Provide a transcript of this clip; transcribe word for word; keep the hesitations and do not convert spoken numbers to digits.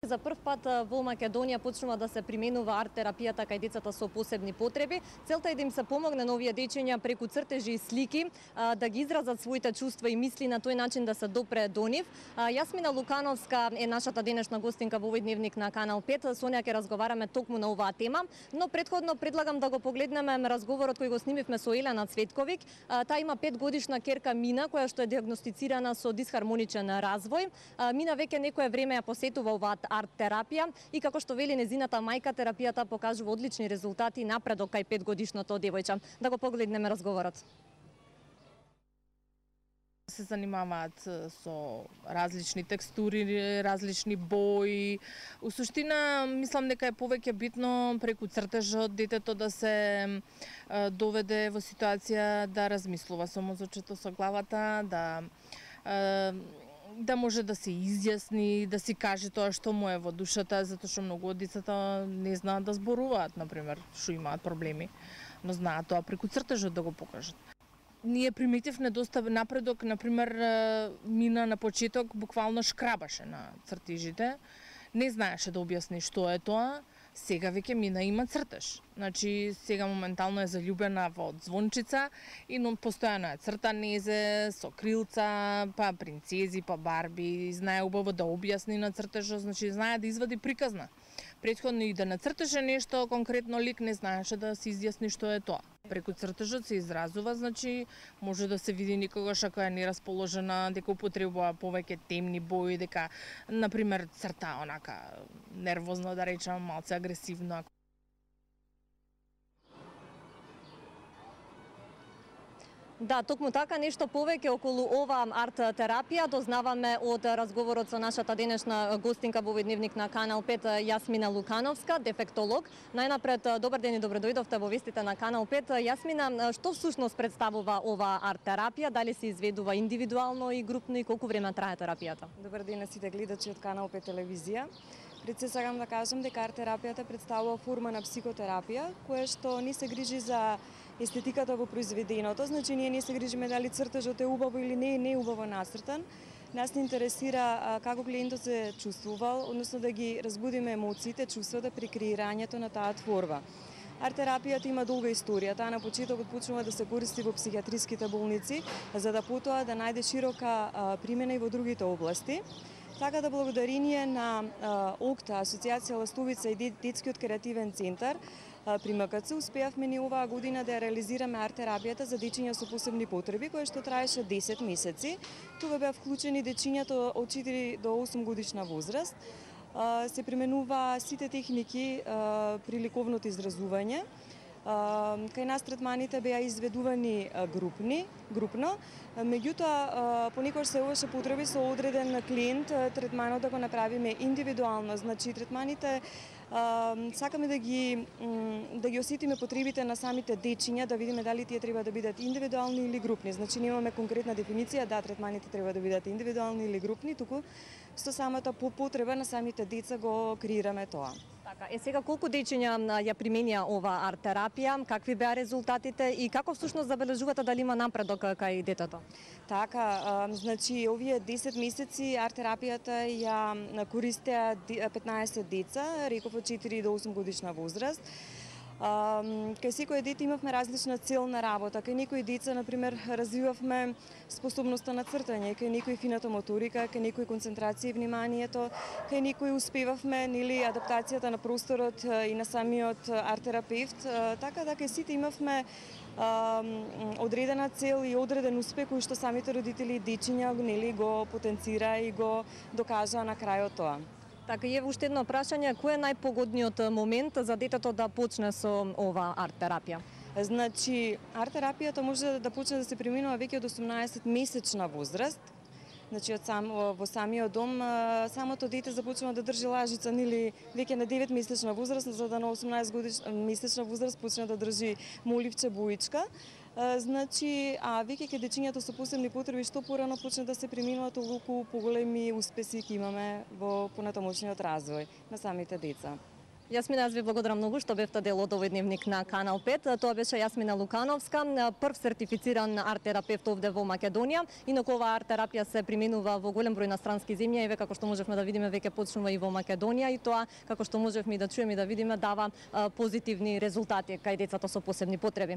За прв пат во Македонија почнува да се применува арт-терапијата кај децата со посебни потреби. Целта е да им се помогне на овие дечиња преку цртежи и слики да ги изразат своите чувства и мисли, на тој начин да се допре до нив. Јасмина Лукановска е нашата денешна гостинка во овој дневник на Канал пет. Со неја ќе разговараме токму на оваа тема, но претходно предлагам да го погледнеме разговорот кој го снимивме со Елена Цветковиќ. Таа има петгодишна керка Мина, која што е дијагностицирана со дисхармоничен развој. Мина веќе некое време ја посетува оваа арт-терапија и како што вели незината мајка, терапијата покажува одлични резултати и напредок кај петгодишното девојче. Да го погледнеме разговорот. Се занимаваат со различни текстури, различни бои. У суштина, мислам дека е повеќе битно преку цртежот детето да се доведе во ситуација да размислува со мозочето, со главата, да да може да се изјасни, да си каже тоа што му е во душата, затоа што многу од децата не знаат да зборуваат, например, што имаат проблеми, но знаат тоа преку цртежот да го покажат. Ние приметивме доста напредок, например, Мина на почеток буквално шкрабаше на цртежите, не знаеше да објасни што е тоа. Сега веќе Мина има цртеж. Значи, сега моментално е заљубена во звончица и но постојано е црта незе со крилца, па принцези, па барби, знае убаво да објасни на цртежот, значи знае да извади приказна. Претходно и да нацртеше нешто, конкретно лик не знаеше да се изјасни што е тоа. Преку цртежот се изразува, значи може да се види никогаш ако е нерасположена, дека употребува повеќе темни бои, дека, например, црта онака нервозно, да речам, малце агресивно. Да, токму така, нешто повеќе околу ова арт-терапија дознаваме од разговорот со нашата денешна гостинка во овој дневник на Канал пет, Јасмина Лукановска, дефектолог. Најнапред, добар ден и добро дојдовте во вестите на Канал пет. Јасмина, што всушност представува ова арт-терапија? Дали се изведува индивидуално и групно и колку време трае терапијата? Добар ден на сите гледачи од Канал пет телевизија. Пред се сакам да кажам дека арт-терапијата представува форма на психотерапија, која што не се грижи за естетиката во произведеното, значи ние не се грижиме дали цртежот е убаво или не, не е убаво нацртан. Нас не интересира а, како клиентот се чувствувал, односно да ги разбудиме емоциите, чувствата при креирањето на таа творба. Арт-терапијата има долга историја. Таа на почетокот почнува да се користи во психијатриските болници, за да потоа да најде широка а, примена и во другите области. Така да благодарение на ОКТА, Асоциација Ластовица и Детскиот креативен центар при М К Ц успеавме ни оваа година да реализираме арт-терапијата за дечиња со посебни потреби, која што траеше десет месеци. Тука беа вклучени дечињата од четири до осум годишна возраст. Се применува сите техники при ликовното изразување. Кај нас третманите беа изведувани групни, групно, меѓутоа понекогаш се имаше потреби со одреден клиент третманот да го направиме индивидуално, значи третманите сакаме да ги да ги осетиме потребите на самите дечиња, да видиме дали тие треба да бидат индивидуални или групни. Значи немаме конкретна дефиниција, да, третманите треба да бидат индивидуални или групни, туку со самата потреба на самите деца го креираме тоа. Така, е сега колку дечиња ја применија ова арт-терапија, какви беа резултатите и како всушност забележувате дали има напредок кај детето? Така, а, значи овие десет месеци арт-терапијата ја користеа петнаесет деца, реков од четири до осум годишна возраст. Uh, кај секој дете имавме различна цел на работа. Кај некои деца, например, развивавме способноста на цртање, кај некои фината моторика, кај некои концентрација и вниманието, кај некои успевавме нели адаптацијата на просторот и на самиот арт-терапевт. Uh, така да кај сите имавме uh, одредена цел и одреден успех кој што самите родители и дечиња нели го потенцира и го докажаа на крајот тоа. Така, и уште едно прашање, кој е најпогодниот момент за детето да почне со ова арт-терапија? Значи, арт-терапијата може да почне да се применува веќе од осумнаесет месечна возраст. Значи, од сам, во самиот дом, самото дете започнува да држи лажица, нели, веќе на девет месечна возраст, за да на осумнаесет годишна месечна возраст почне да држи моливче, боичка. Значи, а веќе ке дечињата со посебни потреби што порано почне да се применуваат, толку поголеми успеси ќе имаме во понатамошниот развој на самите деца. Јасмина, јас ви благодарам многу што бевте дел од овој дневник на Канал пет. Тоа беше Јасмина Лукановска, прв сертифициран арт-терапевт овде во Македонија. Инаку оваа арт-терапија се применува во голем број на странски земји, еве како што можевме да видиме веќе почнува и во Македонија, и тоа како што можевме и да чуеме и да видиме дава позитивни резултати кај децата со посебни потреби.